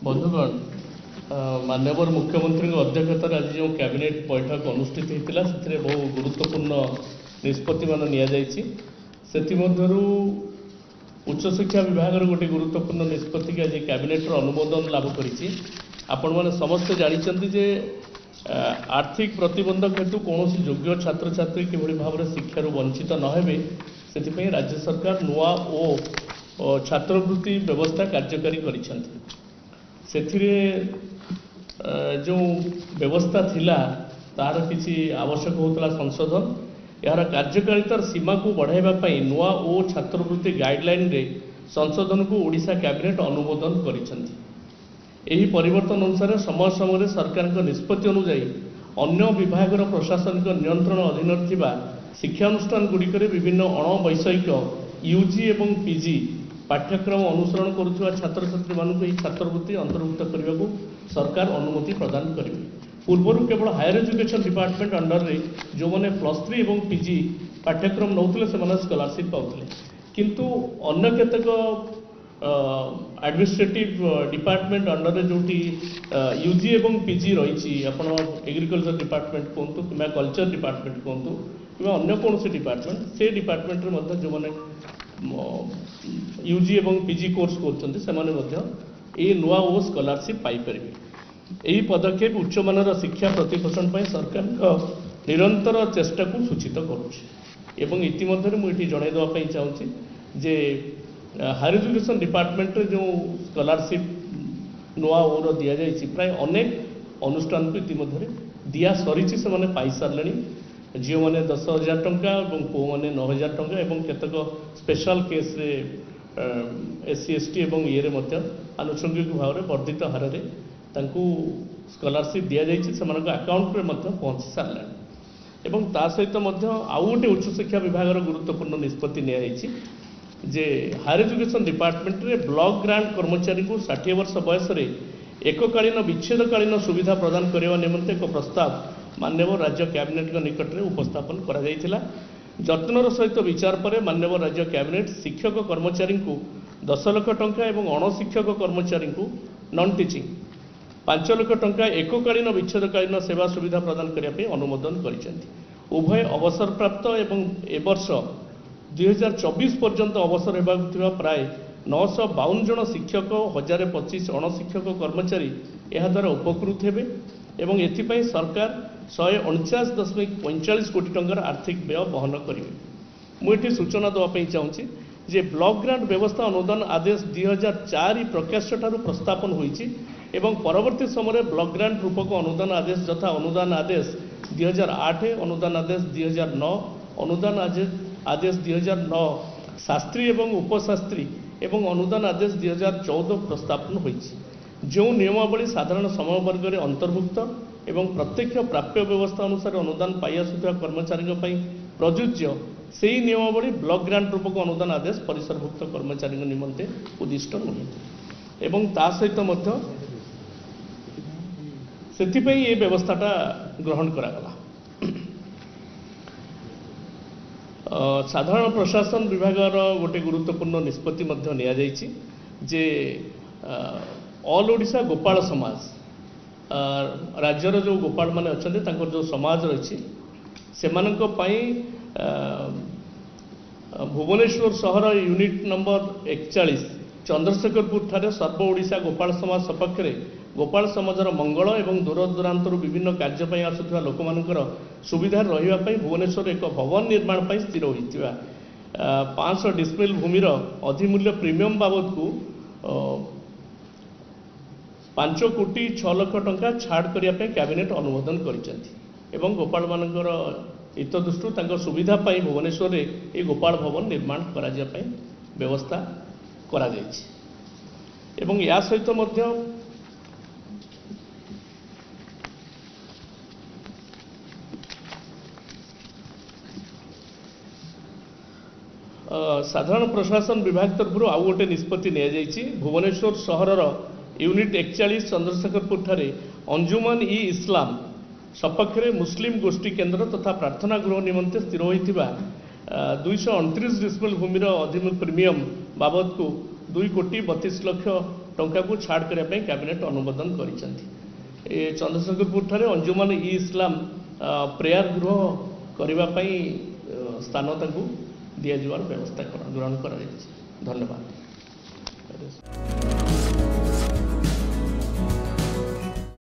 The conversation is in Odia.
ବନ୍ଧୁଗଣ, ମାନ୍ୟବର ମୁଖ୍ୟମନ୍ତ୍ରୀଙ୍କ ଅଧ୍ୟକ୍ଷତାରେ ଆଜି ଯେଉଁ କ୍ୟାବିନେଟ୍ ବୈଠକ ଅନୁଷ୍ଠିତ ହୋଇଥିଲା, ସେଥିରେ ବହୁ ଗୁରୁତ୍ୱପୂର୍ଣ୍ଣ ନିଷ୍ପତ୍ତିମାନ ନିଆଯାଇଛି। ସେଥିମଧ୍ୟରୁ ଉଚ୍ଚଶିକ୍ଷା ବିଭାଗର ଗୋଟିଏ ଗୁରୁତ୍ୱପୂର୍ଣ୍ଣ ନିଷ୍ପତ୍ତିକି ଆଜି କ୍ୟାବିନେଟ୍ର ଅନୁମୋଦନ ଲାଭ କରିଛି। ଆପଣମାନେ ସମସ୍ତେ ଜାଣିଛନ୍ତି ଯେ ଆର୍ଥିକ ପ୍ରତିବନ୍ଧକ ହେତୁ କୌଣସି ଯୋଗ୍ୟ ଛାତ୍ରଛାତ୍ରୀ କିଭଳି ଭାବରେ ଶିକ୍ଷାରୁ ବଞ୍ଚିତ ନ ହେବେ, ସେଥିପାଇଁ ରାଜ୍ୟ ସରକାର ନୂଆ ଓ ଛାତ୍ରବୃତ୍ତି ବ୍ୟବସ୍ଥା କାର୍ଯ୍ୟକାରୀ କରିଛନ୍ତି। ସେଥିରେ ଯେଉଁ ବ୍ୟବସ୍ଥା ଥିଲା, ତାହାର କିଛି ଆବଶ୍ୟକ ହେଉଥିଲା ସଂଶୋଧନ। ଏହାର କାର୍ଯ୍ୟକାରିତାର ସୀମାକୁ ବଢ଼ାଇବା ପାଇଁ ନୂଆ ଓ ଛାତ୍ରବୃତ୍ତି ଗାଇଡ଼ଲାଇନରେ ସଂଶୋଧନକୁ ଓଡ଼ିଶା କ୍ୟାବିନେଟ୍ ଅନୁମୋଦନ କରିଛନ୍ତି। ଏହି ପରିବର୍ତ୍ତନ ଅନୁସାରେ ସମୟ ସମୟରେ ସରକାରଙ୍କ ନିଷ୍ପତ୍ତି ଅନୁଯାୟୀ ଅନ୍ୟ ବିଭାଗର ପ୍ରଶାସନିକ ନିୟନ୍ତ୍ରଣ ଅଧୀନରେ ଥିବା ଶିକ୍ଷାନୁଷ୍ଠାନ ଗୁଡ଼ିକରେ ବିଭିନ୍ନ ଅଣବୈଷୟିକ ୟୁଜି ଏବଂ ପିଜି ପାଠ୍ୟକ୍ରମ ଅନୁସରଣ କରୁଥିବା ଛାତ୍ରଛାତ୍ରୀମାନଙ୍କୁ ଏହି ଛାତ୍ରବୃତ୍ତି ଅନ୍ତର୍ଭୁକ୍ତ କରିବାକୁ ସରକାର ଅନୁମତି ପ୍ରଦାନ କରିବେ। ପୂର୍ବରୁ କେବଳ ହାୟର ଏଜୁକେସନ୍ ଡିପାର୍ଟମେଣ୍ଟ ଅଣ୍ଡରରେ ଯେଉଁମାନେ +3 ଏବଂ ପିଜି ପାଠ୍ୟକ୍ରମ ନେଉଥିଲେ, ସେମାନେ ସ୍କଲାରସିପ୍ ପାଉଥିଲେ। କିନ୍ତୁ ଅନ୍ୟ କେତେକ ଆଡମିନିଷ୍ଟ୍ରେଟିଭ୍ ଡିପାର୍ଟମେଣ୍ଟ ଅଣ୍ଡରରେ ଯେଉଁଠି ୟୁଜି ଏବଂ ପିଜି ରହିଛି, ଆପଣ ଏଗ୍ରିକଲଚର ଡିପାର୍ଟମେଣ୍ଟ କୁହନ୍ତୁ କିମ୍ବା କଲଚର ଡିପାର୍ଟମେଣ୍ଟ କୁହନ୍ତୁ କିମ୍ବା ଅନ୍ୟ କୌଣସି ଡିପାର୍ଟମେଣ୍ଟ, ସେ ଡିପାର୍ଟମେଣ୍ଟରେ ମଧ୍ୟ ଯେଉଁମାନେ ୟୁଜି ଏବଂ ପିଜି କୋର୍ସ କରୁଛନ୍ତି, ସେମାନେ ମଧ୍ୟ ଏହି ନୂଆ ଓ ସ୍କଲାରସିପ୍ ପାଇପାରିବେ। ଏହି ପଦକ୍ଷେପ ଉଚ୍ଚମାନର ଶିକ୍ଷା ପ୍ରତିପୋଷଣ ପାଇଁ ସରକାରଙ୍କ ନିରନ୍ତର ଚେଷ୍ଟାକୁ ସୂଚିତ କରୁଛି। ଏବଂ ଇତିମଧ୍ୟରେ ମୁଁ ଏଠି ଜଣାଇ ଦେବା ପାଇଁ ଚାହୁଁଛି ଯେ ହାୟର ଏଜୁକେସନ୍ ଡିପାର୍ଟମେଣ୍ଟରେ ଯେଉଁ ସ୍କଲାରସିପ୍ ନୂଆ ଓର ଦିଆଯାଇଛି, ପ୍ରାୟ ଅନେକ ଅନୁଷ୍ଠାନକୁ ଇତିମଧ୍ୟରେ ଦିଆ ସରିଛି, ସେମାନେ ପାଇସାରିଲେଣି। ଝିଅମାନେ 10,000 ଟଙ୍କା ଏବଂ ପୁଅମାନେ 9,000 ଟଙ୍କା ଏବଂ କେତେକ ସ୍ପେଶାଲ କେସ୍ରେ ଏସ୍ ସି, ଏସ୍ ଟି ଏବଂ ଇଏରେ ମଧ୍ୟ ଆନୁଷଙ୍ଗିକ ଭାବରେ ବର୍ଦ୍ଧିତ ହାରରେ ତାଙ୍କୁ ସ୍କଲାରସିପ୍ ଦିଆଯାଇଛି, ସେମାନଙ୍କ ଆକାଉଣ୍ଟରେ ମଧ୍ୟ ପହଞ୍ଚି ସାରିଲାଣି। ଏବଂ ତା ସହିତ ମଧ୍ୟ ଆଉ ଗୋଟେ ଉଚ୍ଚଶିକ୍ଷା ବିଭାଗର ଗୁରୁତ୍ୱପୂର୍ଣ୍ଣ ନିଷ୍ପତ୍ତି ନିଆଯାଇଛି ଯେ ହାୟର ଏଜୁକେସନ୍ ଡିପାର୍ଟମେଣ୍ଟରେ ବ୍ଲକ ଗ୍ରାଣ୍ଟ କର୍ମଚାରୀଙ୍କୁ 60 ବର୍ଷ ବୟସରେ ଏକକାଳୀନ ବିଚ୍ଛେଦକାଳୀନ ସୁବିଧା ପ୍ରଦାନ କରିବା ନିମନ୍ତେ ଏକ ପ୍ରସ୍ତାବ ମାନ୍ୟବର ରାଜ୍ୟ କ୍ୟାବିନେଟ୍ଙ୍କ ନିକଟରେ ଉପସ୍ଥାପନ କରାଯାଇଥିଲା। ଯତ୍ନର ସହିତ ବିଚାର ପରେ ମାନ୍ୟବର ରାଜ୍ୟ କ୍ୟାବିନେଟ୍ ଶିକ୍ଷକ କର୍ମଚାରୀଙ୍କୁ 10 ଲକ୍ଷ ଟଙ୍କା ଏବଂ ଅଣଶିକ୍ଷକ କର୍ମଚାରୀଙ୍କୁ ନନ୍ ଟିଚିଂ 5 ଲକ୍ଷ ଟଙ୍କା ଏକକାଳୀନ ବିଚ୍ଛେଦକାଳୀନ ସେବା ସୁବିଧା ପ୍ରଦାନ କରିବା ପାଇଁ ଅନୁମୋଦନ କରିଛନ୍ତି। ଉଭୟ ଅବସରପ୍ରାପ୍ତ ଏବଂ ଏ ବର୍ଷ 2024 ପର୍ଯ୍ୟନ୍ତ ଅବସର ହେବାକୁ ଥିବା ପ୍ରାୟ 952 ଜଣ ଶିକ୍ଷକ, 1025 ଅଣଶିକ୍ଷକ କର୍ମଚାରୀ ଏହାଦ୍ୱାରା ଉପକୃତ ହେବେ ଏବଂ ଏଥିପାଇଁ ସରକାର 149.45 କୋଟି ଟଙ୍କାର ଆର୍ଥିକ ବ୍ୟୟ ବହନ କରିବେ। ମୁଁ ଏଠି ସୂଚନା ଦେବା ପାଇଁ ଚାହୁଁଛି ଯେ ବ୍ଲକ ଗ୍ରାଣ୍ଟ ବ୍ୟବସ୍ଥା ଅନୁଦାନ ଆଦେଶ 2004 ପ୍ରକାଶ୍ୟ ଠାରୁ ପ୍ରସ୍ଥାପନ ହୋଇଛି ଏବଂ ପରବର୍ତ୍ତୀ ସମୟରେ ବ୍ଲକ ଗ୍ରାଣ୍ଟ ରୂପକ ଅନୁଦାନ ଆଦେଶ ଯଥା ଅନୁଦାନ ଆଦେଶ 2008, ଅନୁଦାନ ଆଦେଶ 2009, ଅନୁଦାନ ଆଦେଶ 2009 ଶାସ୍ତ୍ରୀ ଏବଂ ଉପଶାସ୍ତ୍ରୀ ଏବଂ ଅନୁଦାନ ଆଦେଶ 2014 ପ୍ରସ୍ଥାପନ ହୋଇଛି। ଯେଉଁ ନିୟମାବଳୀ ସାଧାରଣ ସମୟବର୍ଗରେ ଅନ୍ତର୍ଭୁକ୍ତ ଏବଂ ପ୍ରତ୍ୟକ୍ଷ ପ୍ରାପ୍ୟ ବ୍ୟବସ୍ଥା ଅନୁସାରେ ଅନୁଦାନ ପାଇ ଆସୁଥିବା କର୍ମଚାରୀଙ୍କ ପାଇଁ ପ୍ରଯୁଜ୍ୟ, ସେହି ନିୟମାବଳୀ ବ୍ଲକ ଗ୍ରାଣ୍ଟ ରୂପକ ଅନୁଦାନ ଆଦେଶ ପରିସରଭୁକ୍ତ କର୍ମଚାରୀଙ୍କ ନିମନ୍ତେ ଉଦ୍ଦିଷ୍ଟ ନୁହେଁ। ଏବଂ ତା ସହିତ ମଧ୍ୟ ସେଥିପାଇଁ ଏ ବ୍ୟବସ୍ଥାଟା ଗ୍ରହଣ କରାଗଲା। ସାଧାରଣ ପ୍ରଶାସନ ବିଭାଗର ଗୋଟେ ଗୁରୁତ୍ୱପୂର୍ଣ୍ଣ ନିଷ୍ପତ୍ତି ମଧ୍ୟ ନିଆଯାଇଛି ଯେ ଅଲ୍ ଓଡ଼ିଶା ଗୋପାଳ ସମାଜ, ରାଜ୍ୟର ଯେଉଁ ଗୋପାଳମାନେ ଅଛନ୍ତି, ତାଙ୍କର ଯେଉଁ ସମାଜ ରହିଛି, ସେମାନଙ୍କ ପାଇଁ ଭୁବନେଶ୍ୱର ସହର ୟୁନିଟ୍ ନମ୍ବର 41 ଚନ୍ଦ୍ରଶେଖରପୁର ଠାରେ ସର୍ବ ଓଡ଼ିଶା ଗୋପାଳ ସମାଜ ସପକ୍ଷରେ ଗୋପାଳ ସମାଜର ମଙ୍ଗଳ ଏବଂ ଦୂରଦୂରାନ୍ତରୁ ବିଭିନ୍ନ କାର୍ଯ୍ୟ ପାଇଁ ଆସୁଥିବା ଲୋକମାନଙ୍କର ସୁବିଧାରେ ରହିବା ପାଇଁ ଭୁବନେଶ୍ୱରରେ ଏକ ଭବନ ନିର୍ମାଣ ପାଇଁ ସ୍ଥିର ହୋଇଥିବା 500 ଡିସମିଲ୍ ଭୂମିର ଅଧିମୂଲ୍ୟ ପ୍ରିମିୟମ ବାବଦକୁ 5 କୋଟି 6 ଲକ୍ଷ ଟଙ୍କା ଛାଡ଼ କରିବା ପାଇଁ କ୍ୟାବିନେଟ୍ ଅନୁମୋଦନ କରିଛନ୍ତି। ଏବଂ ଗୋପାଳମାନଙ୍କର ହିତ ଦୃଷ୍ଟିରୁ ତାଙ୍କ ସୁବିଧା ପାଇଁ ଭୁବନେଶ୍ୱରରେ ଏହି ଗୋପାଳ ଭବନ ନିର୍ମାଣ କରାଯିବା ପାଇଁ ବ୍ୟବସ୍ଥା କରାଯାଇଛି। ଏବଂ ଏହା ସହିତ ମଧ୍ୟ ସାଧାରଣ ପ୍ରଶାସନ ବିଭାଗ ତରଫରୁ ଆଉ ଗୋଟେ ନିଷ୍ପତ୍ତି ନିଆଯାଇଛି। ଭୁବନେଶ୍ୱର ସହରର ୟୁନିଟ୍ 41 ଚନ୍ଦ୍ରଶେଖରପୁର ଠାରେ ଅଞ୍ଜୁମାନ ଇ ଇସଲାମ ସପକ୍ଷରେ ମୁସଲିମ ଗୋଷ୍ଠୀ କେନ୍ଦ୍ର ତଥା ପ୍ରାର୍ଥନା ଗୃହ ନିମନ୍ତେ ସ୍ଥିର ହୋଇଥିବା 229 ଡିସମିଲ ଭୂମିର ଅଧିମୂଲ୍ୟ ପ୍ରିମିୟମ ବାବଦକୁ 2 କୋଟି 32 ଲକ୍ଷ ଟଙ୍କାକୁ ଛାଡ଼ କରିବା ପାଇଁ କ୍ୟାବିନେଟ୍ ଅନୁମୋଦନ କରିଛନ୍ତି। ଏ ଚନ୍ଦ୍ରଶେଖରପୁରଠାରେ ଅଞ୍ଜୁମାନ ଇ ଇସଲାମ ପ୍ରେୟାର ଗୃହ କରିବା ପାଇଁ ସ୍ଥାନ ତାଙ୍କୁ ଦିଆଯିବାର ବ୍ୟବସ୍ଥା ଗ୍ରହଣ କରାଯାଇଛି। ଧନ୍ୟବାଦ।